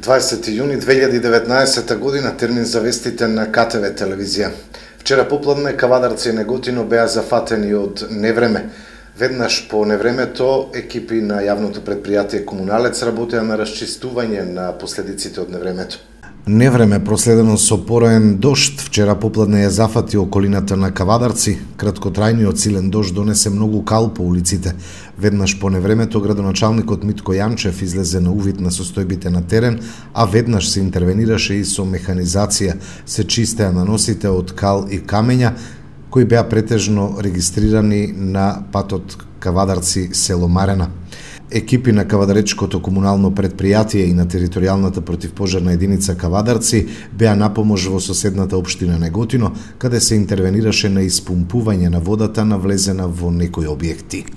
20 јуни 2019 година, термин за вестите на КТВ телевизија. Вчера попладне Кавадарци и Неготино беа зафатени од невреме. Веднаш по невремето, екипи на јавното предпријатие Комуналец работеа на расчистување на последиците од невремето. Невреме проследено со пораен дожд, вчера попладне ја зафати околината на Кавадарци. Краткотрајниот силен дожд донесе многу кал по улиците. Веднаш по невремето градоначалникот Митко Јанчев излезе на увид на состојбите на терен, а веднаш се интервенираше и со механизација. Се чистеа наносите од кал и камења, кои беа претежно регистрирани на патот Кавадарци село Марена. Екипи на Кавадаречкото комунално предпријатие и на територијалната противпожарна единица Кавадарци беа на помош во соседната општина Неготино, каде се интервенираше на испумпување на водата навлезена во некои објекти.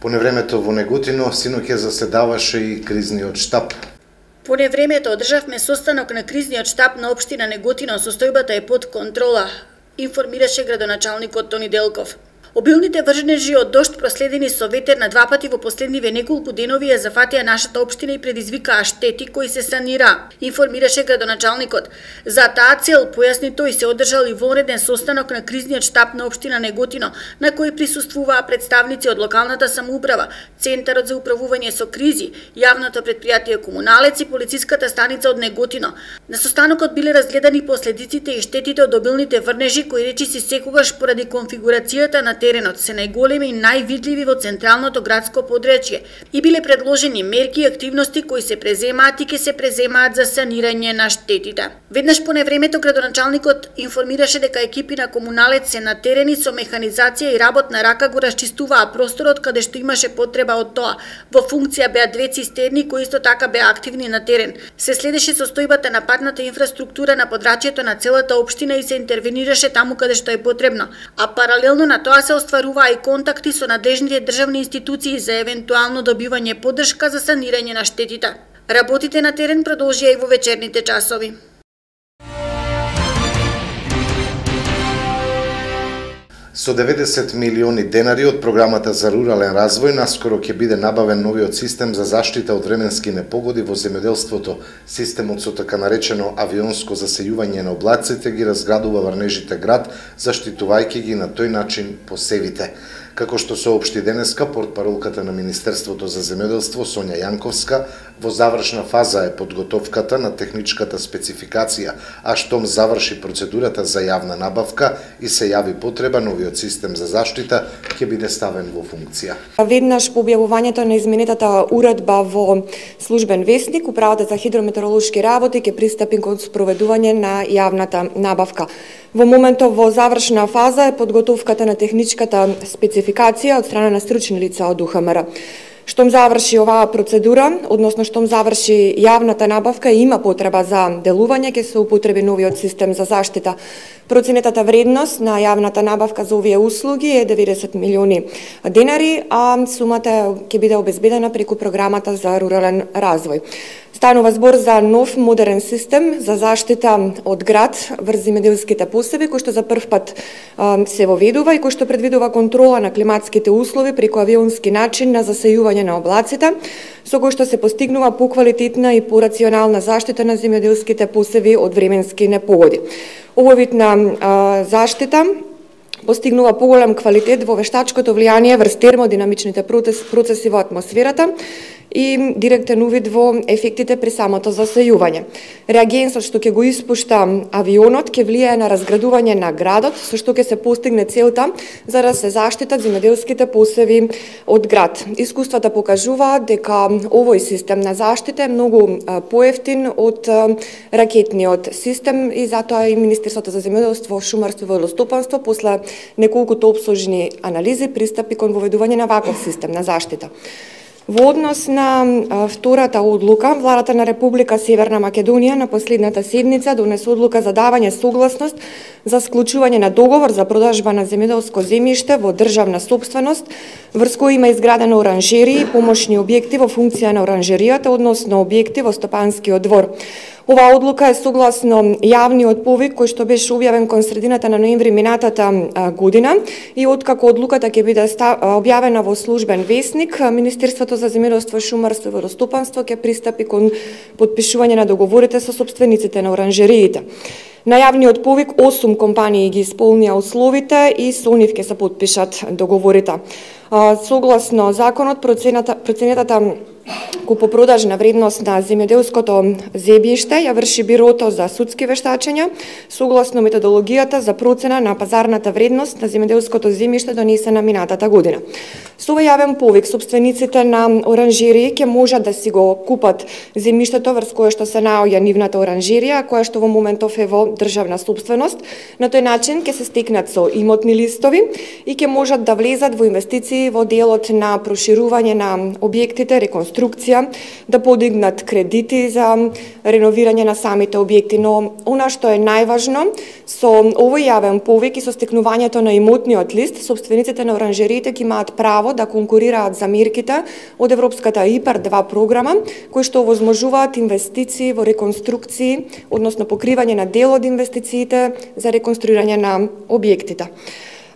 По невремето во Неготино синоќ заседаваше и кризниот штаб. По невремето одржавме состанок на кризниот штаб на општина Неготино, состојбата е под контрола, информираше градоначалникот Тони Делков. Обилните врнежи од дожд проследени со ветер на два пати во последниве неколку денови ја зафатија нашата општина и предизвикаа штети кои се санираа, информираше градоначалникот. За таа цел, појасни тој, се одржал и вонреден состанок на кризниот штаб на општина Неготино, на кој присуствуваа представници од локалната самоуправа, Центарот за управување со кризи, јавното предпријатие Комуналец и полициската станица од Неготино. На состанокот биле разгледани последиците и штетите од обилните врнежи кои речиси секогаш поради конфигурацијата на теренот се најголеми и највидливи во централното градско подречје и биле предложени мерки и активности кои се преземаат и ќе се преземаат за санирање на штетите. Веднаш по невремето градоначалникот информираше дека екипи на Комуналец се на терени со механизација и работна рака го расчистуваа просторот каде што имаше потреба од тоа. Во функција беа две цистерни кои исто така беа активни на терен. Се следеше состојбата на патната инфраструктура на подрачјето на целата општина и се интервенираше таму каде што е потребно, а паралелно на тоа се остваруваа и контакти со надлежните државни институции за евентуално добивање поддршка за санирање на штетите. Работите на терен продолжија и во вечерните часови. Со 90 милиони денари од програмата за рурален развој наскоро ќе биде набавен новиот систем за заштита од временски непогоди во земјоделството. Системот со така наречено авионско засејување на облаците ги разградува врнежите град, заштитувајќи ги на тој начин посевите. Како што соопшти денеска портпаролката на Министерството за земјоделство Сонја Јанковска, во завршна фаза е подготовката на техничката спецификација, а штом заврши процедурата за јавна набавка и се јави потреба, новиот систем за заштита ќе биде ставен во функција. Веднаш по објавувањето на изменетата уредба во службен весник, Управата за хидрометеоролошки работи ќе пристапи кон спроведување на јавната набавка. Во моментов во завршна фаза е подготовката на техничката спецификација од страна на стручни лица од УХМР. Штом заврши оваа процедура, односно штом заврши јавната набавка и има потреба за делување, ќе се употреби новиот систем за заштита. Проценетата вредност на јавната набавка за овие услуги е 90 милиони денари, а сумата ќе биде обезбедена преку програмата за рурален развој. Станува збор за нов модерен систем за заштита од град врз земјоделските посеви, кој што за прв пат се воведува и кој што предвидува контрола на климатските услови преку авионски начин на засејување на облаците, со кој што се постигнува поквалитетна и порационална заштита на земјоделските посеви од временски непогоди. Овој вид на заштита постигнува поголем квалитет во вештачкото влијание врз термодинамичните процеси во атмосферата и директен увид во ефектите при самото засејување. Реагенсот што ќе го испушта авионот ќе влијае на разградување на градот, со што ќе се постигне целта за да се заштитат земјоделските посеви од град. Искуствата покажуваат дека овој систем на заштита е многу поевтин од ракетниот систем и затоа и Министерството за земјоделство, шумарство и водостопанство после неколкуто опсожни анализи пристапи кон воведување на ваков систем на заштита. Во однос на втората одлука, Владата на Република Северна Македонија на последната седница донесе одлука за давање согласност за склучување на договор за продажба на земјоделско земјиште во државна сопственост, врз кој има изградено оранжерии и помошни објекти во функција на оранжеријата, односно објекти во Стопанскиот двор. Оваа одлука е согласно јавниот повик кој што беше објавен кон средината на ноември минатата година и откако одлуката ќе биде објавена во службен весник, Министерството за земјоделство, шумарство и водостопанство ќе пристапи кон потпишување на договорите со сопствениците на оранжериите. На јавниот повик 8 компании ги исполнија условите и со нив ќе се потпишат договорите. Согласно законот, проценетата купопродажна вредност на земјоделското земјиште ја врши Бирото за судски вештачења, согласно методологијата за процена на пазарната вредност на земјоделското земјиште донесена минатата година. Со овој јавен повик, сопствениците на оранжерии ќе можат да си го купат земјиштето врз кое што се наоѓа нивната оранжерија, која што во моментов е во државна собственост. На тој начин ќе се стекнат со имотни листови и ќе можат да влезат во инвестиции во делот на проширување на објектите, реконструкција, да подигнат кредити за реновирање на самите објекти. Но она што е најважно, со овој јавен повик и со стекнувањето на имотниот лист, сопствениците на оранжериите ќе имаат право да конкурираат за мерките од Европската ИПАР 2 програма, кои што овозможуваат инвестиции во реконструкции, односно покривање на дел од инвестициите за реконструирање на објектите.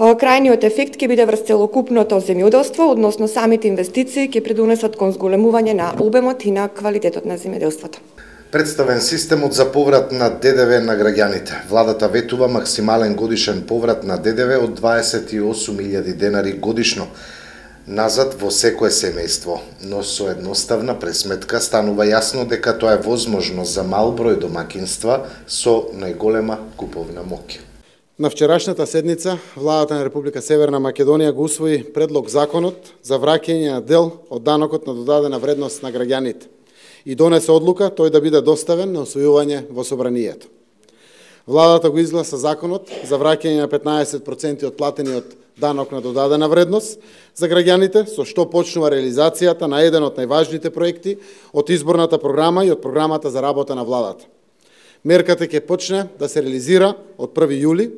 Крајниот ефект ќе биде врз целокупното земјоделство, односно самите инвестиции ќе придонесат кон зголемување на обемот и на квалитетот на земјоделството. Представен системот за поврат на ДДВ на граѓаните. Владата ветува максимален годишен поврат на ДДВ од 28.000 денари годишно назад во секое семејство, но со едноставна пресметка станува јасно дека тоа е возможно за мал број домакинства со најголема куповна моќ. На вчерашната седница, владата на Република Северна Македонија го усвои предлог законот за враќање на дел од данокот на додадена вредност на граѓаните и донесе одлука тој да биде доставен на усвојување во собранието. Владата го изгласа законот за враќање на 15% од платениот данок на додадена вредност за граѓаните, со што почнува реализацијата на еден од најважните проекти од изборната програма и од програмата за работа на владата. Мерката ќе почне да се реализира од 1 јули,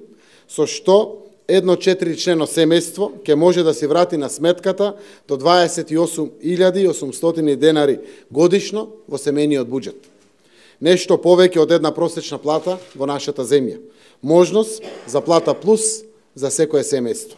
со што едно 4-члено семејство ќе може да си врати на сметката до 28.800 денари годишно во семејниот буџет. Нешто повеќе од една просечна плата во нашата земја. Можност за плата плюс за секое семејство.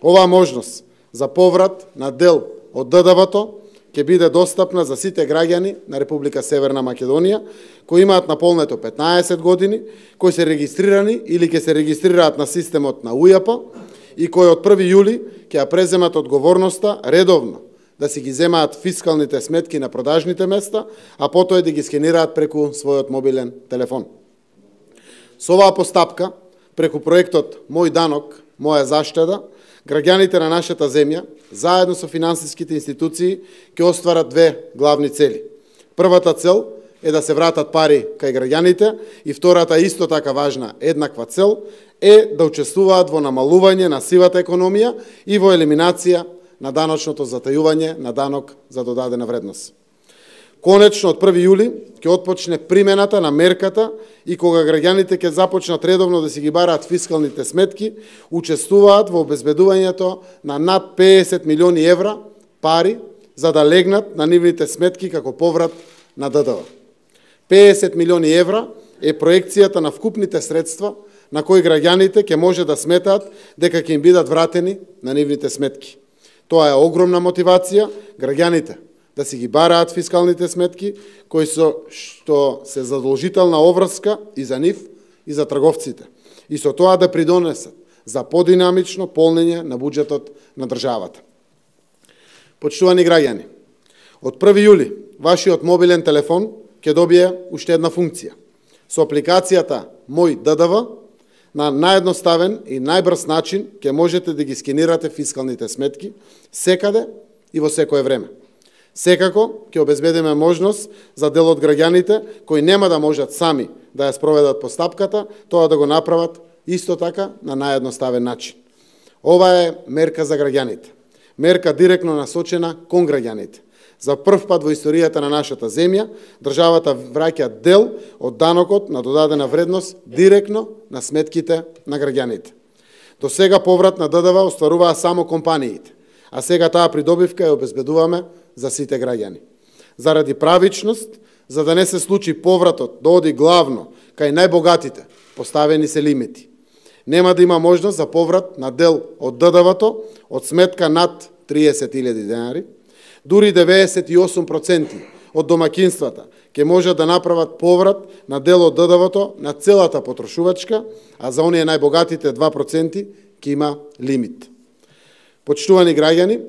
Оваа можност за поврат на дел од ДДВ-то ќе биде достапна за сите граѓани на Република Северна Македонија, кои имаат наполнето 15 години, кои се регистрирани или ќе се регистрираат на системот на УЈП и кои од 1 јули ќе ја преземат одговорноста редовно да си ги земаат фискалните сметки на продажните места, а потоа да ги скенираат преку својот мобилен телефон. Со оваа постапка, преку проектот Мој данок, моја заштеда, граѓаните на нашата земја, заедно со финансиските институции, ќе остварат две главни цели. Првата цел е да се вратат пари кај граѓаните и втората исто така важна, еднаква цел, е да учествуваат во намалување на сивата економија и во елиминација на даночното затајување на данок за додадена вредност. Конечно, од 1 јули ќе отпочне примената на мерката и кога граѓаните ќе започнат редовно да си ги бараат фискалните сметки, учествуваат во обезбедувањето на над 50 милиони евра пари за да легнат на нивните сметки како поврат на ДДВ. 50 милиони евра е проекцијата на вкупните средства на кои граѓаните ќе може да сметаат дека ќе им бидат вратени на нивните сметки. Тоа е огромна мотивација граѓаните да си ги бараат фискалните сметки, кои што се задолжителна обврска и за нив и за трговците, и со тоа да придонесат за подинамично полнење на буџетот на државата. Почитувани граѓани, од 1 јули вашиот мобилен телефон ќе добие уште една функција. Со апликацијата Мој ДДВ на наједноставен и најбрз начин ќе можете да ги скенирате фискалните сметки секаде и во секое време. Секако ќе обезбедиме можност за дел од граѓаните кои нема да можат сами да ја спроведат постапката, тоа да го направат исто така на наједноставен начин. Ова е мерка за граѓаните. Мерка директно насочена кон граѓаните. За прв пат во историјата на нашата земја, државата враќа дел од данокот на додадена вредност директно на сметките на граѓаните. До сега поврат на ДДВ остваруваа само компаниите, а сега таа придобивка ја обезбедуваме за сите граѓани. Заради правичност, За да не се случи повратот да оди главно кај најбогатите, поставени се лимити. Нема да има можност за поврат на дел од ДДВ-то од сметка над 30.000 денари. Дури 98% од домакинствата ќе можат да направат поврат на дел од ДДВ-то на целата потрошувачка, а за оние најбогатите 2% ќе има лимит. Почитувани граѓани,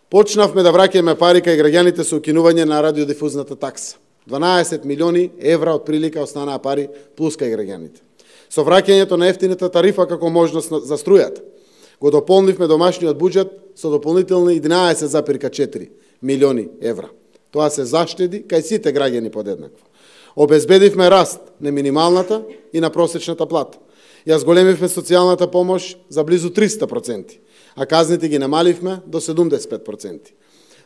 почнавме да враќаме пари кај граѓаните со укинување на радиодифузната такса. 12 милиони евра од прилика останаа пари плюс кај граѓаните. Со враќањето на ефтината тарифа како можност за струјата, го дополнивме домашниот буџет со дополнителни 11,4 милиони евра. Тоа се заштеди кај сите граѓани подеднакво. Обезбедивме раст на минималната и на просечната плата. Ја зголемивме социјалната помош за близу 300%, а казните ги намаливме до 75%.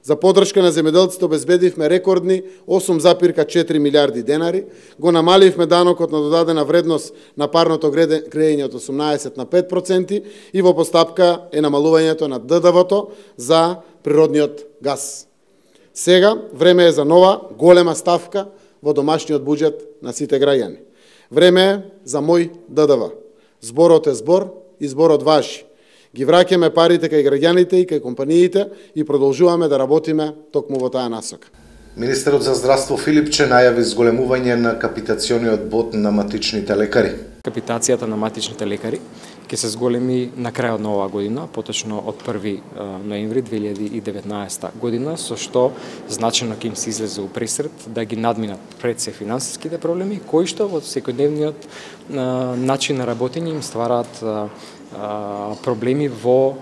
За поддршка на земјоделците обезбедивме рекордни 8,4 милиарди денари, го намаливме данокот на додадена вредност на парното грејење од 18 на 5% и во постапка е намалувањето на ДДВ-то за природниот газ. Сега време е за нова голема ставка во домашниот буџет на сите граѓани. Време е за мој ДДВ. Зборот е збор и зборот важи. Ги враќаме парите кај граѓаните и кај компаниите и продолжуваме да работиме токму во таа насока. Министерот за здравство Филипче најави зголемување на капитациониот бод на матичните лекари. Капитацијата на матичните лекари ќе се зголеми на крајот на оваа година, поточно од 1 ноември 2019 година, со што значено ќе им се излезе у пресред да ги надминат пред се финансиските проблеми, кои што во секојдневниот начин на работење им ствараат проблеми во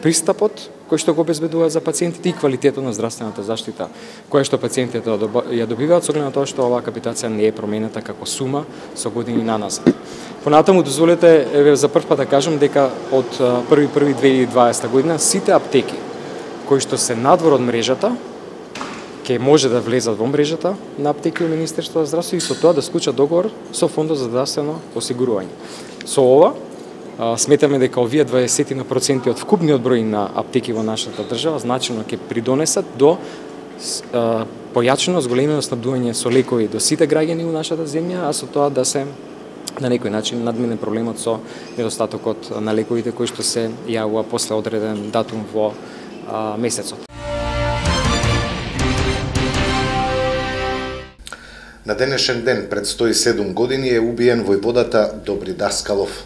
пристапот кој што го обезбедува за пациентите и квалитетот на здравствената заштита која што пациентите ја добиваат со оглед на тоа што оваа капитација не е променета како сума со години наназад. Понатаму дозволете за прв пат да кажам дека од 1.1.2020 година сите аптеки кои што се надвор од мрежата ќе може да влезат во мрежата на аптеки во Министерството за здравство и со тоа да склучат договор со Фондот за здравствено осигурување. Со ова сметаме дека овие 20% од вкупниот број на аптеки во нашата држава значено ќе придонесат до појачено зголемено снабдување со лекови до сите граѓани во нашата земја, а со тоа да се на некој начин надмине проблемот со недостатокот на лековите кои што се јавува после одреден датум во месецот. На денешен ден пред 107 години е убиен војводата Добри Даскалов.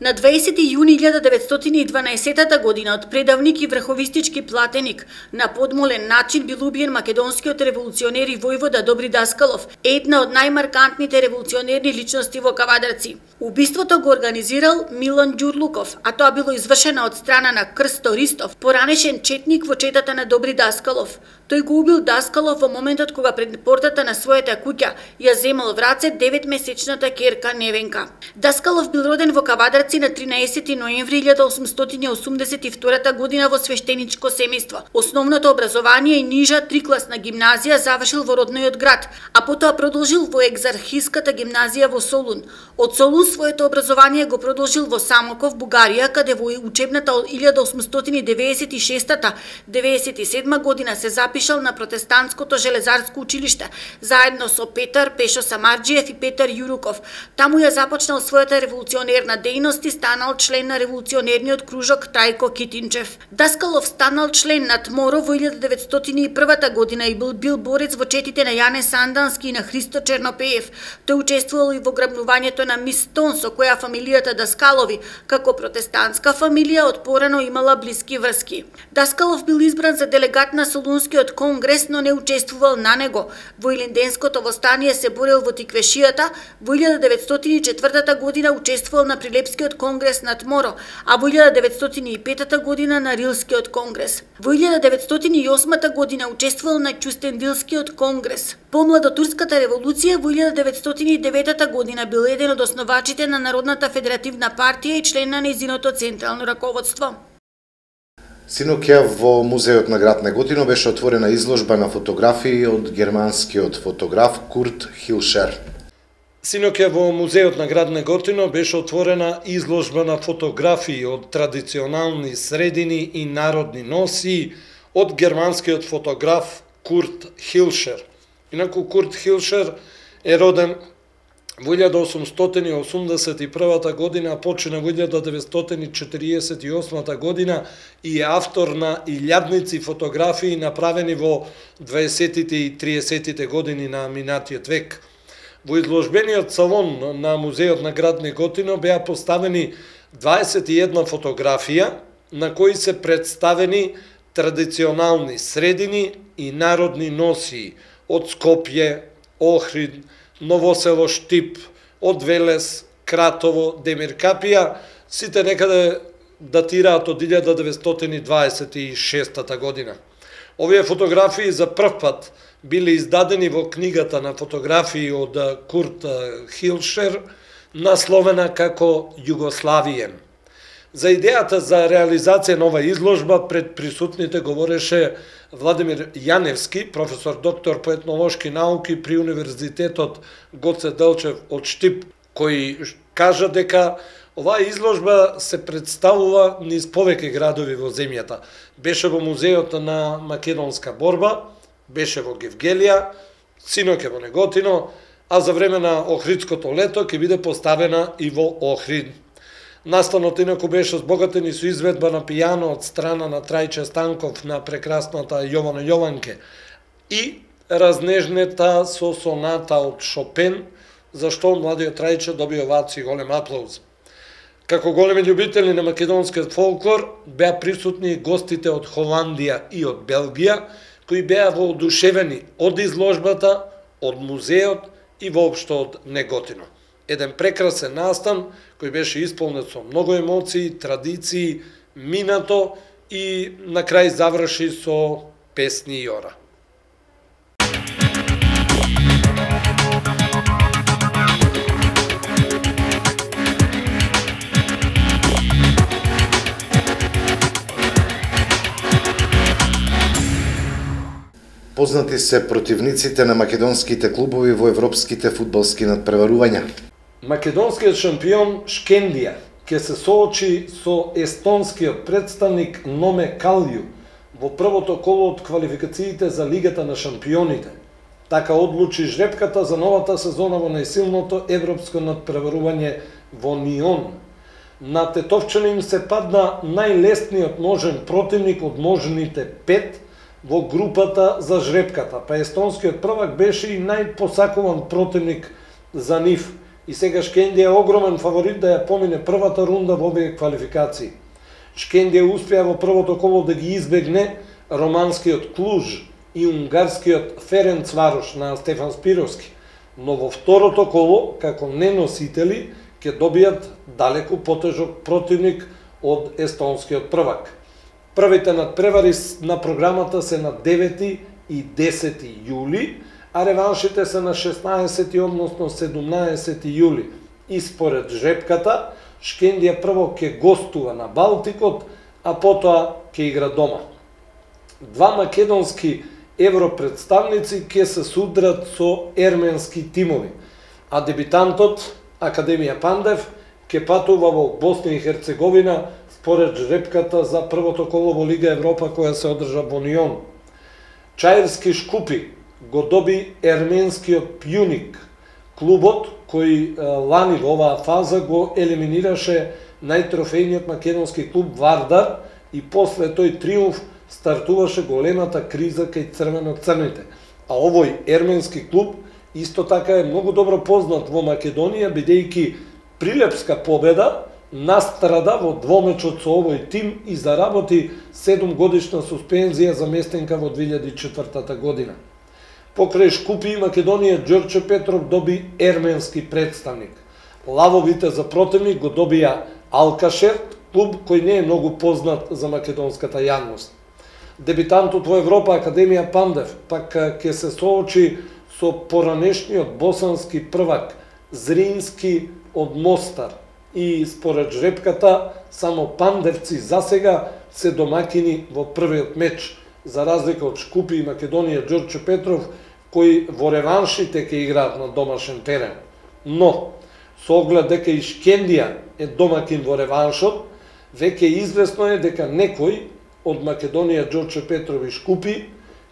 На 20 јуни 1912 година од предавник и врховистички платеник на подмолен начин бил убиен македонскиот револуционер и војвода Добри Даскалов, една од најмаркантните револуционерни личности во Кавадарци. Убиството го организирал Милан Ѓурлуков, а тоа било извршено од страна на Крсто Ристов, поранешен четник во четата на Добри Даскалов. Тој го убил Даскалов во моментот кога пред портата на својата куќа ја земал в раце 9-месечната ќерка Невенка. Даскалов бил роден во Кавадарци на 13 ноември 1882 година во свештеничко семејство. Основното образование и нижа трикласна гимназија завршил во родниот град, а потоа продолжил во екзархиската гимназија во Солун. Од Солун своето образование го продолжил во Самоков, Бугарија, каде во учебната од 1896-97 година се запишал на протестантското железарско училиште, заедно со Петар Пешо Самарџиев и Петар Јуруков. Таму ја започнал својата револуционерна дејност и станал член на револуционерниот кружок Трајко Китинчев. Даскалов станал член на ТМОРО во 1901 година и бил борец во четите на Јане Сандански и на Христо Чернопеев. Тој учествувал и во грабнувањето на Мис Тон, со која фамилијата Даскалови, како протестантска фамилија, од порано имала блиски врски. Даскалов бил избран за делегат на Солунскиот конгрес, но не учествувал на него. Во Илинденското востание се борел во Тиквешијата, во 1904 година учествувал на Прилепскиот конгрес на ТМОРО, а во 1905 година на Рилскиот конгрес. Во 1908 година учествувал на Ќустендилскиот конгрес. По младотурската револуција во 1909 година бил еден од основачите на Народната федеративна партија и член на нејзиното централно раководство. Синоќа во музеот на град Неготино беше отворена изложба на фотографии од германскиот фотограф Курт Хилшер. Синоќа во музеот на град Неготино беше отворена изложба на фотографии од традиционални средини и народни носии од германскиот фотограф Курт Хилшер. Инаку Курт Хилшер е роден во 1881 година, а почина во 1948 година и е автор на илјадници фотографии направени во 20-тите и 30-тите години на минатиот век. Во изложбениот салон на Музеот на град Неготино беа поставени 21 фотографија на кои се представени традиционални средини и народни носии од Скопје, Охрид, Новосело, Штип, од Велес, Кратово, Демиркапија, сите некаде датираат од 1926 година. Овие фотографии за прв пат биле издадени во книгата на фотографии од Курт Хилшер, насловена како Југославијен. За идејата за реализација на ова изложба пред присутните говореше Владимир Јаневски, професор доктор по етнолошки науки при Универзитетот Гоце Делчев од Штип, кој кажа дека оваа изложба се представува низ повеќе градови во земјата. Беше во Музеот на македонска борба, беше во Гевгелија, синоќа во Неготино, а за време на Охридското лето ќе биде поставена и во Охрид. Настанот инаку беше збогатен и со изведба на пијано од страна на Трајче Станков на прекрасната Јована Јованке и разнежнета со соната од Шопен, зашто младиот Трајче доби овации и голем аплауз. Како големи љубители на македонскиот фолклор беа присутни и гостите од Холандија и од Белгија, кои беа воодушевени од изложбата, од музеот и воопшто од Неготино. Еден прекрасен настан кој беше исполнет со многу емоции, традиции, минато и на крај заврши со песни и ора. Познати се противниците на македонските клубови во европските фудбалски надпреварувања. Македонскиот шампион Шкендија ќе се соочи со естонскиот представник Номе Калју во првото коло од квалификациите за Лигата на шампионите. Така одлучи жребката за новата сезона во најсилното европско надпреварување во Нион. На тетовчани им се падна најлесниот можен противник од можните 5 во групата за жребката, па естонскиот првак беше и најпосакуван противник за нив. И сега Шкендија е огромен фаворит да ја помине првата рунда во овие квалификации. Шкендија успеа во првото коло да ги избегне романскиот Клуж и унгарскиот Ференцварош на Стефан Спировски, но во второто коло, како неносители, ќе добијат далеку потежок противник од естонскиот првак. Првите надпревари на програмата се на 9 и 10 јули, а реваншите се на 16, односно 17 јули. И според жребката, Шкендија прво ќе гостува на Балтикот, а потоа ќе игра дома. Два македонски европредставници ќе се судрат со ерменски тимови, а дебитантот, Академија Пандев, ќе патува во Босна и Херцеговина според жребката за првото коло во Лига Европа која се одржа во Нион. Чаирски Шкупи го доби ерменскиот Пјуник, клубот кој лани во оваа фаза го елиминираше најтрофејниот македонски клуб Вардар и после тој триумф стартуваше големата криза кај црвено-црните. А овој ерменски клуб исто така е многу добро познат во Македонија, бидејќи прилепска победа настрада во двомечот со овој тим и заработи 7-годишна суспензија за местенка во 2004 година. Покрај Шкупи и Македонија, Ѓорче Петров доби ерменски представник. Лавовите за противник го добија Алкашерт, клуб кој не е многу познат за македонската јавност. Дебитантот во Европа Академија Пандев пак ќе се соочи со поранешниот босански првак Зрински од Мостар. И според жребката, само пандевци засега се домакини во првиот меч, за разлика од Шкупи и Македонија Ѓорче Петров, кои во реваншите ќе играат на домашен терен. Но, со оглед дека и Шкендија е домакин во реваншот, веќе известно е дека некој од Македонија Ѓорче Петров и Шкупи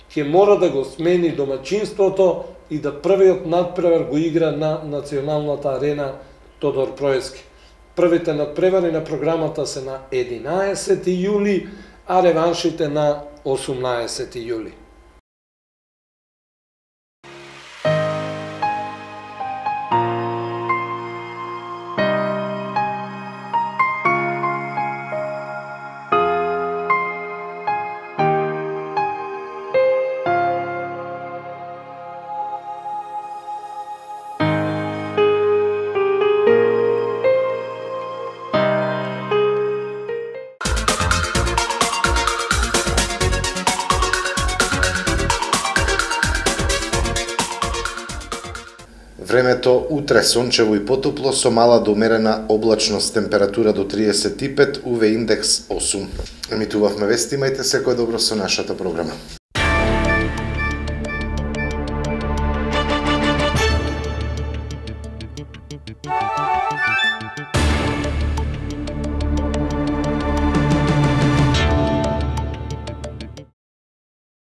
ќе мора да го смени домачинството и да првиот надпревар го игра на националната арена Тодор Проески. Првите надпревари на програмата се на 11 јули, а реваншите на 18 јули. Времето утре сончево и потопло со мала до умерена облачност, температура до 35, УВ индекс 8. Емитувавме вести, имајте секој добро со нашата програма. Bye.